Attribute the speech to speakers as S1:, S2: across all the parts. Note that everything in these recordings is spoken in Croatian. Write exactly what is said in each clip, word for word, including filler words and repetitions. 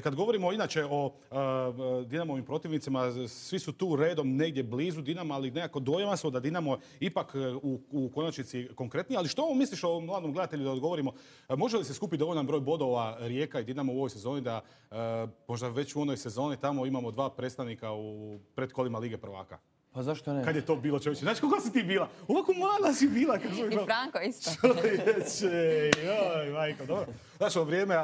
S1: Kad govorimo inače o Dinamovim protivnicima, svi su tu redom negdje blizu Dinama, ali nekako dojma smo da Dinamo ipak u, u konačnici konkretniji. Ali što ovo misliš o mladom gledatelju, da odgovorimo? Može li se skupiti dovoljan broj bodova Rijeka i Dinamo u ovoj sezoni da možda već u onoj sezoni tamo imamo dva predstavnika u predkolima Lige prvaka?
S2: Pa zašto ne?
S1: Kad je to bilo, čovječe? Znači, koliko si ti bila? Ovako mala si bila.
S3: I Franko isto.
S1: Čovječe, joj, majko, dobro. Znaš, o vrijeme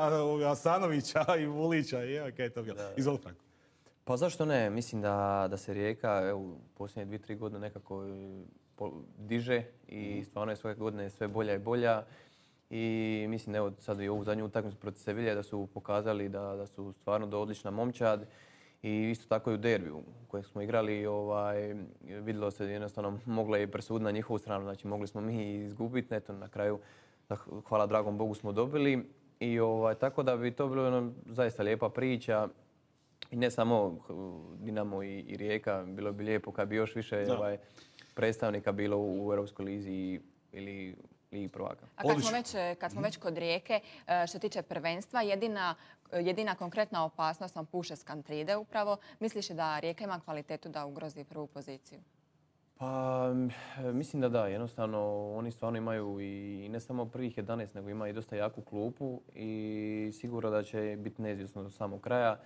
S1: Asanovića i Vulića, joj, kaj je to bilo? Izvoli, Franko.
S2: Pa zašto ne? Mislim da, da se Rijeka evo, u posljednje dvije, tri godine nekako diže i stvarno je svake godine sve bolja i bolja. I mislim, evo sad i ovu zadnju utakmicu protiv Sevilje da su pokazali da, da su stvarno do odlična momčad. I isto tako i u derbiju u kojem smo igrali, ovaj, vidjelo se jednostavno mogla je presuditi na njihovu stranu, znači mogli smo mi izgubiti, eto na kraju, hvala dragom Bogu smo dobili. I ovaj, tako da bi to bilo ono, zaista lijepa priča. I ne samo Dinamo i, i Rijeka, bilo bi lijepo kad bi još više ovaj, predstavnika bilo u Europskoj lizi ili Ligi prvaka.
S3: A kad smo, već, kad smo već kod Rijeke, što se tiče prvenstva, jedina, jedina konkretna opasnost vam puše s Kantride upravo. Misliš da Rijeka ima kvalitetu da ugrozi prvu poziciju?
S2: Pa mislim da da. Jednostavno oni stvarno imaju i ne samo prvih jedanaest, nego ima i dosta jaku klupu i sigurno da će biti neizvjesno do samog kraja.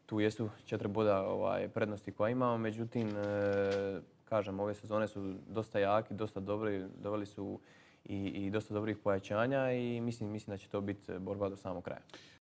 S2: Tu jesu četiri boda ovaj, prednosti koja imamo, međutim, e, kažem, ove sezone su dosta jaki, dosta dobri, doveli su i, i dosta dobrih pojačanja i mislim, mislim da će to biti borba do samog kraja.